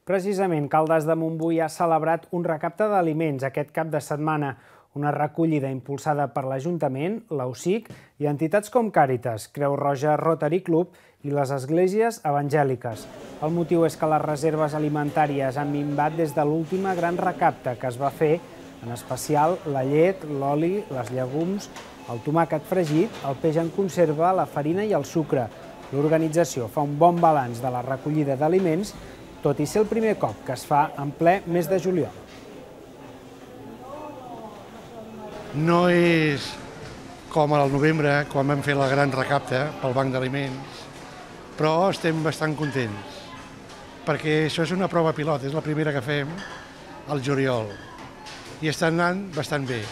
Precisament, Caldes de Montbui ha celebrat un recapte d'aliments aquest cap de setmana, una recollida impulsada per l'Ajuntament, l'AUSIC i entitats com Càritas, Creu Roja Rotary Club i les esglésies evangèliques. El motiu és que les reserves alimentàries han minvat des de l'última gran recapte que es va fer, en especial la llet, l'oli, les llegums, el tomàquet fregit, el peix en conserva, la farina i el sucre. L'organització fa un bon balanç de la recollida d'aliments, tot i ser el primer cop que es fa en ple mes de juliol. No és com al novembre, quan vam fer la gran recapte pel Banc d'Aliments, però estem bastant contents, perquè això és una prova pilot, és la primera que fem al juliol, i està anant bastant bé.